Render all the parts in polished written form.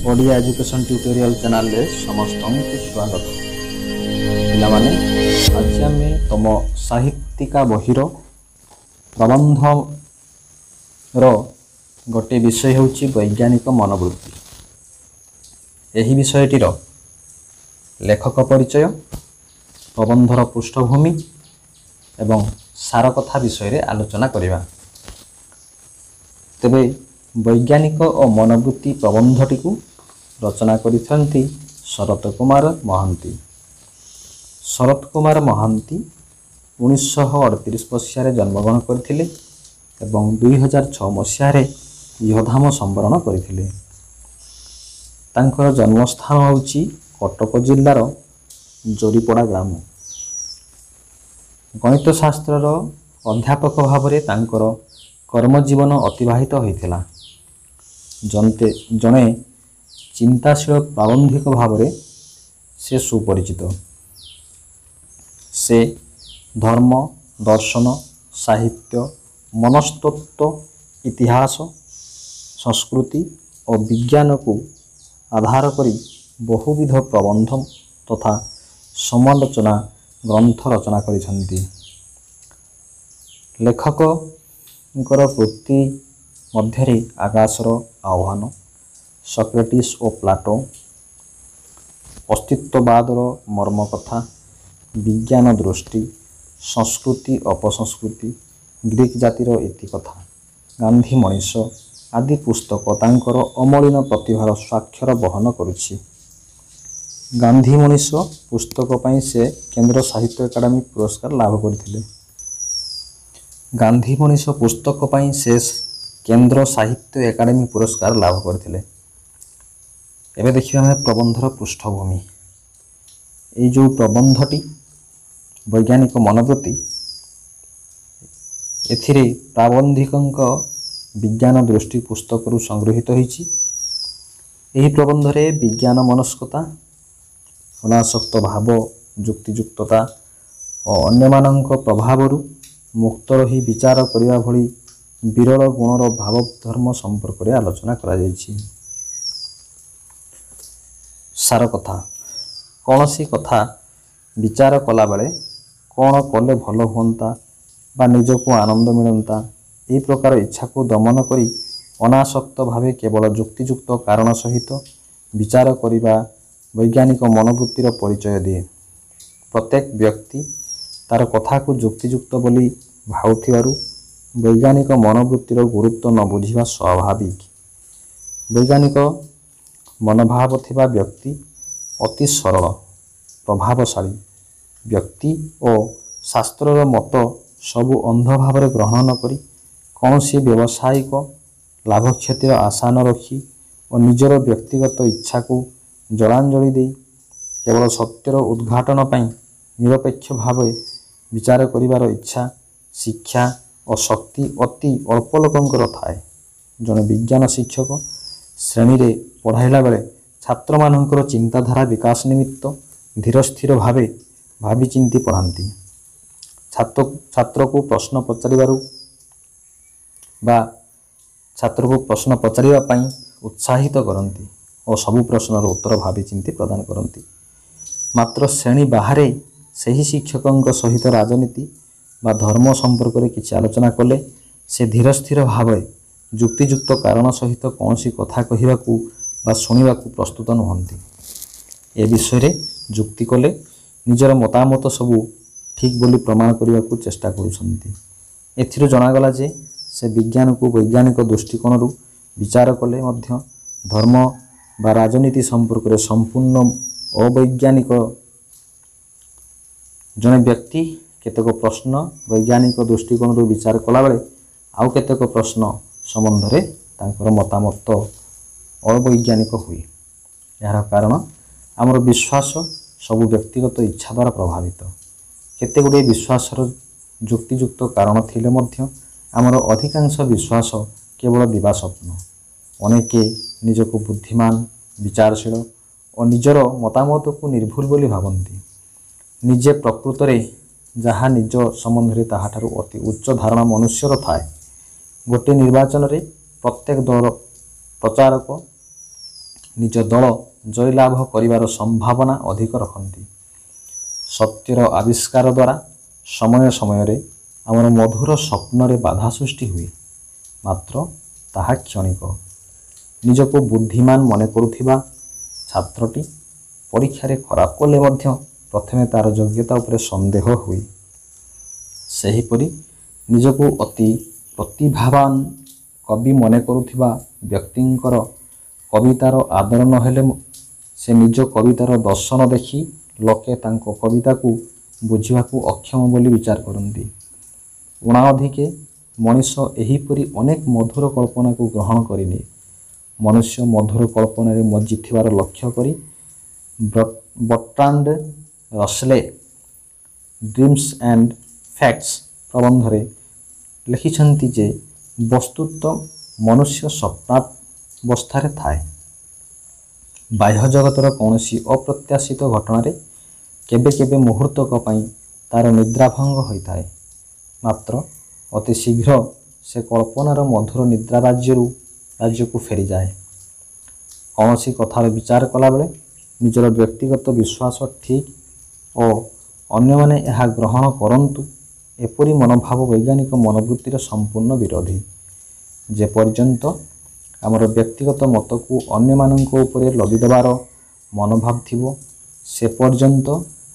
Odia education tutorial ଚ୍ୟାନେଲରେ ସମସ୍ତଙ୍କୁ ସ୍ୱାଗତ। ପିଲାମାନେ, ଆଜି ଆମେ ତମ ସାହିତ୍ୟିକା ବହିର ପ୍ରବନ୍ଧର ଗୋଟିଏ ବିଷୟ ହେଉଛି ବୈଜ୍ଞାନିକ ମନୋବୃତ୍ତି। ଏହି ବିଷୟଟିର ଲେଖକ ପରିଚୟ, ପ୍ରବନ୍ଧର ପୃଷ୍ଠଭୂମି ଏବଂ ସାର କଥା ବିଷୟରେ ଆଲୋଚନା କରିବା। ତେବେ ବୈଜ୍ଞାନିକ ଓ ମନୋବୃତ୍ତି ପ୍ରବନ୍ଧଟିକୁ ରଚନା କରିଛନ୍ତି ଶରତ କୁମାର ମହାନ୍ତି। ଶରତ କୁମାର ମହାନ୍ତି 1938 ମସିହାରେ ଜନ୍ମଗ୍ରହଣ କରିଥିଲେ ଏବଂ 2006 ମସିହାରେ ଇହଧାମ ସମ୍ବରଣ କରିଥିଲେ। ତାଙ୍କର ଜନ୍ମସ୍ଥାନ ହେଉଛି କଟକ ଜିଲ୍ଲାର ଜରିପଡ଼ା ଗ୍ରାମ। ଗଣିତ ଶାସ୍ତ୍ରର ଅଧ୍ୟାପକ ଭାବରେ ତାଙ୍କର କର୍ମଜୀବନ ଅତିବାହିତ ହୋଇଥିଲା। ଜଣେ ଚିନ୍ତାଶୀଳ ପ୍ରାବନ୍ଧିକ ଭାବରେ ସେ ସୁପରିଚିତ। ସେ ଧର୍ମ, ଦର୍ଶନ, ସାହିତ୍ୟ, ମନସ୍ତତ୍ତ୍ୱ, ଇତିହାସ, ସଂସ୍କୃତି ଓ ବିଜ୍ଞାନକୁ ଆଧାର କରି ବହୁବିଧ ପ୍ରବନ୍ଧ ତଥା ସମାଲୋଚନା ଗ୍ରନ୍ଥ ରଚନା କରିଛନ୍ତି। ଲେଖକଙ୍କର କୃତି ମଧ୍ୟରେ ଆକାଶର ଆହ୍ୱାନ, ସକ୍ରେଟିସ୍ ଓ ପ୍ଲାଟୋ, ଅସ୍ତିତ୍ୱବାଦର ମର୍ମକଥା, ବିଜ୍ଞାନ ଦୃଷ୍ଟି, ସଂସ୍କୃତି ଅପସଂସ୍କୃତି, ଗ୍ରୀକ୍ ଜାତିର ଇତିକଥା, ଗାନ୍ଧୀ ମଣିଷ ଆଦି ପୁସ୍ତକ ତାଙ୍କର ଅମଳିନ ପ୍ରତିଭାର ସ୍ୱାକ୍ଷର ବହନ କରୁଛି। ଗାନ୍ଧୀ ମଣିଷ ପୁସ୍ତକ ପାଇଁ ସେ କେନ୍ଦ୍ର ସାହିତ୍ୟ ଏକାଡେମୀ ପୁରସ୍କାର ଲାଭ କରିଥିଲେ। ଗାନ୍ଧୀ ମଣିଷ ପୁସ୍ତକ ପାଇଁ ସେ କେନ୍ଦ୍ର ସାହିତ୍ୟ ଏକାଡେମୀ ପୁରସ୍କାର ଲାଭ କରିଥିଲେ। ଏବେ ଦେଖିବା ଆମେ ପ୍ରବନ୍ଧର ପୃଷ୍ଠଭୂମି। ଏଇ ଯେଉଁ ପ୍ରବନ୍ଧଟି ବୈଜ୍ଞାନିକ ମନୋବୃତ୍ତି, ଏଥିରେ ପ୍ରାବନ୍ଧିକଙ୍କ ବିଜ୍ଞାନ ଦୃଷ୍ଟି ପୁସ୍ତକରୁ ସଂଗୃହୀତ ହୋଇଛି। ଏହି ପ୍ରବନ୍ଧରେ ବିଜ୍ଞାନ ମନସ୍କତା, ଅନାସକ୍ତ ଭାବ, ଯୁକ୍ତିଯୁକ୍ତତା ଓ ଅନ୍ୟମାନଙ୍କ ପ୍ରଭାବରୁ ମୁକ୍ତ ରହି ବିଚାର କରିବା ଭଳି ବିରଳ ଗୁଣର ଭାବଧର୍ମ ସମ୍ପର୍କରେ ଆଲୋଚନା କରାଯାଇଛି। ସାର କଥା: କୌଣସି କଥା ବିଚାର କଲାବେଳେ କ'ଣ କଲେ ଭଲ ହୁଅନ୍ତା ବା ନିଜକୁ ଆନନ୍ଦ ମିଳନ୍ତା, ଏହି ପ୍ରକାର ଇଚ୍ଛାକୁ ଦମନ କରି ଅନାସକ୍ତ ଭାବେ କେବଳ ଯୁକ୍ତିଯୁକ୍ତ କାରଣ ସହିତ ବିଚାର କରିବା ବୈଜ୍ଞାନିକ ମନୋବୃତ୍ତିର ପରିଚୟ ଦିଏ। ପ୍ରତ୍ୟେକ ବ୍ୟକ୍ତି ତାର କଥାକୁ ଯୁକ୍ତିଯୁକ୍ତ ବୋଲି ଭାବୁଥିବାରୁ ବୈଜ୍ଞାନିକ ମନୋବୃତ୍ତିର ଗୁରୁତ୍ୱ ନ ବୁଝିବା ସ୍ୱାଭାବିକ। ବୈଜ୍ଞାନିକ ମନୋଭାବ ଥିବା ବ୍ୟକ୍ତି ଅତି ସରଳ, ପ୍ରଭାବଶାଳୀ ବ୍ୟକ୍ତି ଓ ଶାସ୍ତ୍ରର ମତ ସବୁ ଅନ୍ଧ ଭାବରେ ଗ୍ରହଣ ନ କରି, କୌଣସି ବ୍ୟବସାୟିକ ଲାଭକ୍ଷତିର ଆଶା ନ ରଖି ଓ ନିଜର ବ୍ୟକ୍ତିଗତ ଇଚ୍ଛାକୁ ଜଳାଞ୍ଜଳି ଦେଇ କେବଳ ସତ୍ୟର ଉଦ୍ଘାଟନ ପାଇଁ ନିରପେକ୍ଷ ଭାବେ ବିଚାର କରିବାର ଇଚ୍ଛା, ଶିକ୍ଷା ଓ ଶକ୍ତି ଅତି ଅଳ୍ପ ଲୋକଙ୍କର ଥାଏ। ଜଣେ ବିଜ୍ଞାନ ଶିକ୍ଷକ ଶ୍ରେଣୀରେ ପଢ଼ାଇଲା ବେଳେ ଛାତ୍ରମାନଙ୍କର ଚିନ୍ତାଧାରା ବିକାଶ ନିମିତ୍ତ ଧୀରସ୍ଥିର ଭାବେ ଭାବିଚିନ୍ତି ପଢ଼ାନ୍ତି। ଛାତ୍ରକୁ ପ୍ରଶ୍ନ ପଚାରିବାରୁ ବା ଛାତ୍ରକୁ ପ୍ରଶ୍ନ ପଚାରିବା ପାଇଁ ଉତ୍ସାହିତ କରନ୍ତି ଓ ସବୁ ପ୍ରଶ୍ନର ଉତ୍ତର ଭାବିଚିନ୍ତି ପ୍ରଦାନ କରନ୍ତି। ମାତ୍ର ଶ୍ରେଣୀ ବାହାରେ ସେହି ଶିକ୍ଷକଙ୍କ ସହିତ ରାଜନୀତି ବା ଧର୍ମ ସମ୍ପର୍କରେ କିଛି ଆଲୋଚନା କଲେ ସେ ଧୀରସ୍ଥିର ଭାବେ ଯୁକ୍ତିଯୁକ୍ତ କାରଣ ସହିତ କୌଣସି କଥା କହିବାକୁ ବା ଶୁଣିବାକୁ ପ୍ରସ୍ତୁତ ନୁହନ୍ତି। ଏ ବିଷୟରେ ଯୁକ୍ତି କଲେ ନିଜର ମତାମତ ସବୁ ଠିକ୍ ବୋଲି ପ୍ରମାଣ କରିବାକୁ ଚେଷ୍ଟା କରୁଛନ୍ତି। ଏଥିରୁ ଜଣାଗଲା ଯେ ସେ ବିଜ୍ଞାନକୁ ବୈଜ୍ଞାନିକ ଦୃଷ୍ଟିକୋଣରୁ ବିଚାର କଲେ ମଧ୍ୟ ଧର୍ମ ବା ରାଜନୀତି ସମ୍ପର୍କରେ ସମ୍ପୂର୍ଣ୍ଣ ଅବୈଜ୍ଞାନିକ। ଜଣେ ବ୍ୟକ୍ତି କେତେକ ପ୍ରଶ୍ନ ବୈଜ୍ଞାନିକ ଦୃଷ୍ଟିକୋଣରୁ ବିଚାର କଲାବେଳେ ଆଉ କେତେକ ପ୍ରଶ୍ନ ସମ୍ବନ୍ଧରେ ତାଙ୍କର ମତାମତ ଅବୈଜ୍ଞାନିକ ହୁଏ। ଏହାର କାରଣ, ଆମର ବିଶ୍ୱାସ ସବୁ ବ୍ୟକ୍ତିଗତ ଇଚ୍ଛା ଦ୍ୱାରା ପ୍ରଭାବିତ। କେତେ ଗୁଡ଼ିଏ ବିଶ୍ୱାସର ଯୁକ୍ତିଯୁକ୍ତ କାରଣ ଥିଲେ ମଧ୍ୟ ଆମର ଅଧିକାଂଶ ବିଶ୍ୱାସ କେବଳ ଦିବାସ୍ୱପ୍ନ। ଅନେକେ ନିଜକୁ ବୁଦ୍ଧିମାନ, ବିଚାରଶୀଳ ଓ ନିଜର ମତାମତକୁ ନିର୍ଭୁଲ ବୋଲି ଭାବନ୍ତି। ନିଜେ ପ୍ରକୃତରେ ଯାହା ନିଜ ସମ୍ବନ୍ଧରେ ତାହାଠାରୁ ଅତି ଉଚ୍ଚ ଧାରଣା ମନୁଷ୍ୟର ଥାଏ। ଗୋଟିଏ ନିର୍ବାଚନରେ ପ୍ରତ୍ୟେକ ଦଳର ପ୍ରଚାରକ ନିଜ ଦଳ ଜୟଲାଭ କରିବାର ସମ୍ଭାବନା ଅଧିକ ରଖନ୍ତି। ସତ୍ୟର ଆବିଷ୍କାର ଦ୍ୱାରା ସମୟ ସମୟରେ ଆମର ମଧୁର ସ୍ୱପ୍ନରେ ବାଧା ସୃଷ୍ଟି ହୁଏ, ମାତ୍ର ତାହା କ୍ଷଣିକ। ନିଜକୁ ବୁଦ୍ଧିମାନ ମନେ କରୁଥିବା ଛାତ୍ରଟି ପରୀକ୍ଷାରେ ଖରାପ କଲେ ମଧ୍ୟ ପ୍ରଥମେ ତା'ର ଯୋଗ୍ୟତା ଉପରେ ସନ୍ଦେହ ହୁଏ। ସେହିପରି ନିଜକୁ ଅତି ପ୍ରତିଭାବାନ କବି ମନେ କରୁଥିବା ବ୍ୟକ୍ତିଙ୍କର କବିତାର ଆଦର ନହେଲେ ସେ ନିଜ କବିତାର ଦର୍ଶନ ଦେଖି ଲୋକେ ତାଙ୍କ କବିତାକୁ ବୁଝିବାକୁ ଅକ୍ଷମ ବୋଲି ବିଚାର କରନ୍ତି। ଊଣା ଅଧିକେ ମଣିଷ ଏହିପରି ଅନେକ ମଧୁର କଳ୍ପନାକୁ ଗ୍ରହଣ କରିନିଏ। ମନୁଷ୍ୟ ମଧୁର କଳ୍ପନାରେ ମଜ୍ଜିଥିବାର ଲକ୍ଷ୍ୟ କରି Bertrand Russell dreams and facts ପ୍ରବନ୍ଧରେ ଲେଖିଛନ୍ତି ଯେ ବସ୍ତୁତଃ ମନୁଷ୍ୟ ସ୍ୱପ୍ନାବସ୍ଥାରେ ଥାଏ। ବାହ୍ୟ ଜଗତର କୌଣସି ଅପ୍ରତ୍ୟାଶିତ ଘଟଣାରେ କେବେ କେବେ ମୁହୂର୍ତ୍ତକ ପାଇଁ ତା'ର ନିଦ୍ରାଭଙ୍ଗ ହୋଇଥାଏ, ମାତ୍ର ଅତି ଶୀଘ୍ର ସେ କଳ୍ପନାର ମଧୁର ନିଦ୍ରା ରାଜ୍ୟକୁ ଫେରିଯାଏ। କୌଣସି କଥାର ବିଚାର କଲାବେଳେ ନିଜର ବ୍ୟକ୍ତିଗତ ବିଶ୍ୱାସ ଠିକ୍ ଓ ଅନ୍ୟମାନେ ଏହା ଗ୍ରହଣ କରନ୍ତୁ, ଏପରି ମନୋଭାବ ବୈଜ୍ଞାନିକ ମନୋବୃତ୍ତିର ସମ୍ପୂର୍ଣ୍ଣ ବିରୋଧୀ। ଯେପର୍ଯ୍ୟନ୍ତ ଆମର ବ୍ୟକ୍ତିଗତ ମତକୁ ଅନ୍ୟମାନଙ୍କ ଉପରେ ଲଦିଦେବାର ମନୋଭାବ ଥିବ, ସେ ପର୍ଯ୍ୟନ୍ତ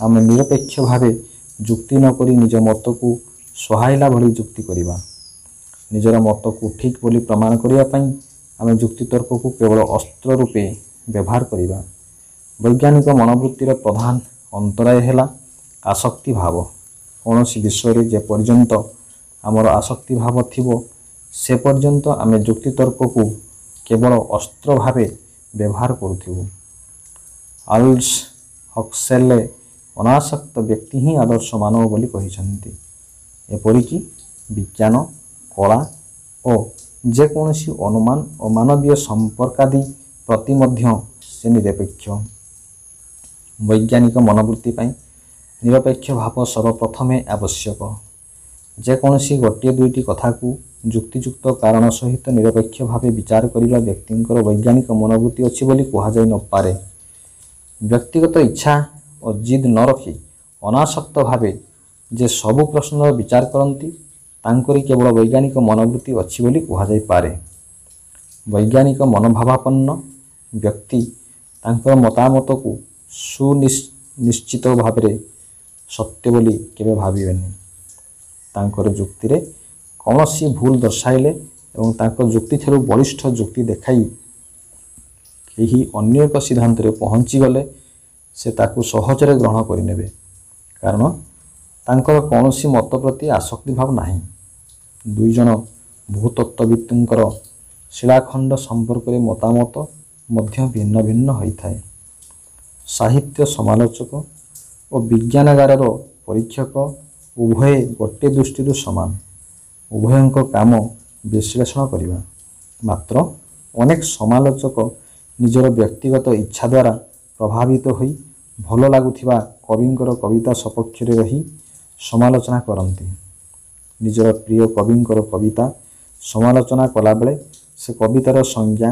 ଆମେ ନିରପେକ୍ଷ ଭାବେ ଯୁକ୍ତି ନକରି ନିଜ ମତକୁ ସୁହାଇଲା ଭଳି ଯୁକ୍ତି କରିବା। ନିଜର ମତକୁ ଠିକ୍ ବୋଲି ପ୍ରମାଣ କରିବା ପାଇଁ ଆମେ ଯୁକ୍ତିତର୍କକୁ କେବଳ ଅସ୍ତ୍ର ରୂପେ ବ୍ୟବହାର କରିବା। ବୈଜ୍ଞାନିକ ମନୋବୃତ୍ତିର ପ୍ରଧାନ ଅନ୍ତରାୟ ହେଲା ଆସକ୍ତି ଭାବ। କୌଣସି ବିଷୟରେ ଯେପର୍ଯ୍ୟନ୍ତ ଆମର ଆସକ୍ତି ଭାବ ଥିବ, ସେ ପର୍ଯ୍ୟନ୍ତ ଆମେ ଯୁକ୍ତିତର୍କକୁ କେବଳ ଅସ୍ତ୍ର ଭାବେ ବ୍ୟବହାର କରୁଥିବୁ। ଆଲ୍ଡସ୍ ହକ୍ସଲେ ଅନାସକ୍ତ ବ୍ୟକ୍ତି ହିଁ ଆଦର୍ଶ ମାନବ ବୋଲି କହିଛନ୍ତି। ଏପରିକି ବିଜ୍ଞାନ, କଳା ଓ ଯେକୌଣସି ଅନୁମାନ ଓ ମାନବୀୟ ସମ୍ପର୍କାଦି ପ୍ରତି ମଧ୍ୟ ସେ ନିରପେକ୍ଷ। ବୈଜ୍ଞାନିକ ମନୋବୃତ୍ତି ପାଇଁ ନିରପେକ୍ଷ ଭାବ ସର୍ବପ୍ରଥମେ ଆବଶ୍ୟକ। ଯେକୌଣସି ଗୋଟିଏ ଦୁଇଟି କଥାକୁ ଯୁକ୍ତିଯୁକ୍ତ କାରଣ ସହିତ ନିରପେକ୍ଷ ଭାବେ ବିଚାର କରିବା ବ୍ୟକ୍ତିଙ୍କର ବୈଜ୍ଞାନିକ ମନୋବୃତ୍ତି ଅଛି ବୋଲି କୁହାଯାଇ ନପାରେ। ବ୍ୟକ୍ତିଗତ ଇଚ୍ଛା ଓ ଜିଦ୍ ନ ରଖି ଅନାସକ୍ତ ଭାବେ ଯେ ସବୁ ପ୍ରଶ୍ନର ବିଚାର କରନ୍ତି, ତାଙ୍କରି କେବଳ ବୈଜ୍ଞାନିକ ମନୋବୃତ୍ତି ଅଛି ବୋଲି କୁହାଯାଇପାରେ। ବୈଜ୍ଞାନିକ ମନୋଭାବାପନ୍ନ ବ୍ୟକ୍ତି ତାଙ୍କର ମତାମତକୁ ସୁନିଶ୍ଚିତ ଭାବରେ ସତ୍ୟ ବୋଲି କେବେ ଭାବିବେନି। ତାଙ୍କର ଯୁକ୍ତିରେ କୌଣସି ଭୁଲ ଦର୍ଶାଇଲେ ଏବଂ ତାଙ୍କ ଯୁକ୍ତିଠାରୁ ବଳିଷ୍ଠ ଯୁକ୍ତି ଦେଖାଇ କେହି ଅନ୍ୟ ଏକ ସିଦ୍ଧାନ୍ତରେ ପହଞ୍ଚିଗଲେ ସେ ତାକୁ ସହଜରେ ଗ୍ରହଣ କରିନେବେ, କାରଣ ତାଙ୍କର କୌଣସି ମତ ପ୍ରତି ଆସକ୍ତି ଭାବ ନାହିଁ। ଦୁଇ ଜଣ ଭୂତତ୍ତ୍ୱବିତ୍ଙ୍କର ଶିଳାଖଣ୍ଡ ସମ୍ପର୍କରେ ମତାମତ ମଧ୍ୟ ଭିନ୍ନ ଭିନ୍ନ ହୋଇଥାଏ। ସାହିତ୍ୟ ସମାଲୋଚକ ଓ ବିଜ୍ଞାନାଗାରର ପରୀକ୍ଷକ ଉଭୟେ ଗୋଟିଏ ଦୃଷ୍ଟିରୁ ସମାନ। ଉଭୟଙ୍କ କାମ ବିଶ୍ଳେଷଣ କରିବା। ମାତ୍ର ଅନେକ ସମାଲୋଚକ ନିଜର ବ୍ୟକ୍ତିଗତ ଇଚ୍ଛା ଦ୍ୱାରା ପ୍ରଭାବିତ ହୋଇ ଭଲ ଲାଗୁଥିବା କବିଙ୍କର କବିତା ସପକ୍ଷରେ ରହି ସମାଲୋଚନା କରନ୍ତି। ନିଜର ପ୍ରିୟ କବିଙ୍କର କବିତା ସମାଲୋଚନା କଲାବେଳେ ସେ କବିତାର ସଂଜ୍ଞା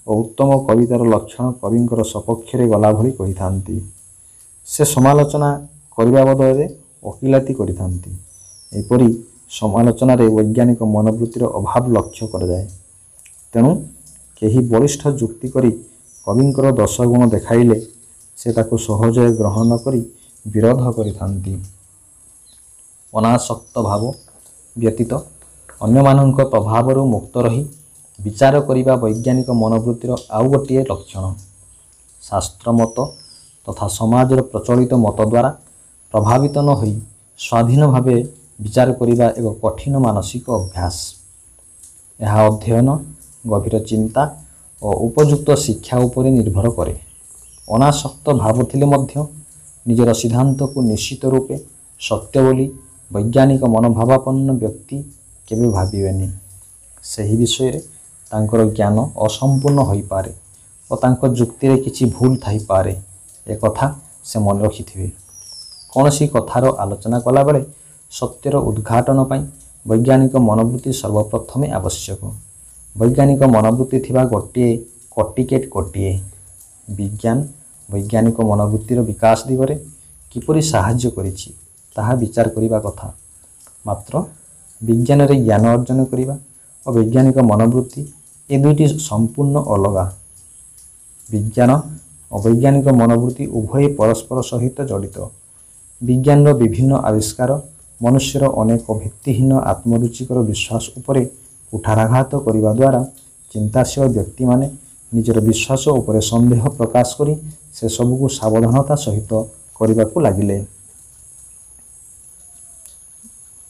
ଓ ଉତ୍ତମ କବିତାର ଲକ୍ଷଣ କବିଙ୍କର ସପକ୍ଷରେ ଗଲା ଭଳି କହିଥାନ୍ତି। ସେ ସମାଲୋଚନା କରିବା ବଦଳରେ ଓକିଲାତି କରିଥାନ୍ତି। ଏପରି ସମାଲୋଚନାରେ ବୈଜ୍ଞାନିକ ମନୋବୃତ୍ତିର ଅଭାବ ଲକ୍ଷ୍ୟ କରାଯାଏ। ତେଣୁ କେହି ବଳିଷ୍ଠ ଯୁକ୍ତି କରି କବିଙ୍କର ଦୋଷ ଗୁଣ ଦେଖାଇଲେ ସେ ତାକୁ ସହଜରେ ଗ୍ରହଣ ନ କରି ବିରୋଧ କରିଥାନ୍ତି। ଅନାସକ୍ତ ଭାବ ବ୍ୟତୀତ ଅନ୍ୟମାନଙ୍କ ପ୍ରଭାବରୁ ମୁକ୍ତ ରହି ବିଚାର କରିବା ବୈଜ୍ଞାନିକ ମନୋବୃତ୍ତିର ଆଉ ଗୋଟିଏ ଲକ୍ଷଣ। ଶାସ୍ତ୍ର ମତ ତଥା ସମାଜର ପ୍ରଚଳିତ ମତ ଦ୍ୱାରା ପ୍ରଭାବିତ ନ ହୋଇ ସ୍ୱାଧୀନ ଭାବେ ବିଚାର କରିବା ଏକ କଠିନ ମାନସିକ ଅଭ୍ୟାସ। ଏହା ଅଧ୍ୟୟନ, ଗଭୀର ଚିନ୍ତା ଓ ଉପଯୁକ୍ତ ଶିକ୍ଷା ଉପରେ ନିର୍ଭର କରେ। ଅନାସକ୍ତ ଭାବ ଥିଲେ ମଧ୍ୟ ନିଜର ସିଦ୍ଧାନ୍ତକୁ ନିଶ୍ଚିତ ରୂପେ ସତ୍ୟ ବୋଲି ବୈଜ୍ଞାନିକ ମନୋଭାବାପନ୍ନ ବ୍ୟକ୍ତି କେବେ ଭାବିବେନି। ସେହି ବିଷୟରେ ତାଙ୍କର ଜ୍ଞାନ ଅସମ୍ପୂର୍ଣ୍ଣ ହୋଇପାରେ ଓ ତାଙ୍କ ଯୁକ୍ତିରେ କିଛି ଭୁଲ ଥାଇପାରେ, ଏକଥା ସେ ମନେ ରଖିଥିବେ। କୌଣସି କଥାର ଆଲୋଚନା କଲାବେଳେ ସତ୍ୟର ଉଦ୍ଘାଟନ ପାଇଁ ବୈଜ୍ଞାନିକ ମନୋବୃତ୍ତି ସର୍ବପ୍ରଥମେ ଆବଶ୍ୟକ। ବୈଜ୍ଞାନିକ ମନୋବୃତ୍ତି ଥିବା ଗୋଟିଏ କଟିକେଟ ଗୋଟିଏ। ବିଜ୍ଞାନ ବୈଜ୍ଞାନିକ ମନୋବୃତ୍ତିର ବିକାଶ ଦିଗରେ କିପରି ସାହାଯ୍ୟ କରିଛି, ତାହା ବିଚାର କରିବା କଥା। ମାତ୍ର ବିଜ୍ଞାନରେ ଜ୍ଞାନ ଅର୍ଜନ କରିବା ଓ ବୈଜ୍ଞାନିକ ମନୋବୃତ୍ତି ଏ ଦୁଇଟି ସମ୍ପୂର୍ଣ୍ଣ ଅଲଗା। ବିଜ୍ଞାନ ଓ ବୈଜ୍ଞାନିକ ମନୋବୃତ୍ତି ଉଭୟ ପରସ୍ପର ସହିତ ଜଡ଼ିତ। ବିଜ୍ଞାନର ବିଭିନ୍ନ ଆବିଷ୍କାର ମନୁଷ୍ୟର ଅନେକ ଭିତ୍ତିହୀନ ଆତ୍ମରୁଚିକର ବିଶ୍ୱାସ ଉପରେ କୁଠାରାଘାତ କରିବା ଦ୍ୱାରା ଚିନ୍ତାଶୀଳ ବ୍ୟକ୍ତିମାନେ ନିଜର ବିଶ୍ୱାସ ଉପରେ ସନ୍ଦେହ ପ୍ରକାଶ କରି ସେସବୁକୁ ସାବଧାନତା ସହିତ କରିବାକୁ ଲାଗିଲେ।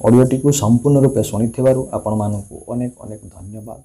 ଅଡ଼ିଓଟିକୁ ସମ୍ପୂର୍ଣ୍ଣ ରୂପେ ଶୁଣିଥିବାରୁ ଆପଣମାନଙ୍କୁ ଅନେକ ଅନେକ ଧନ୍ୟବାଦ।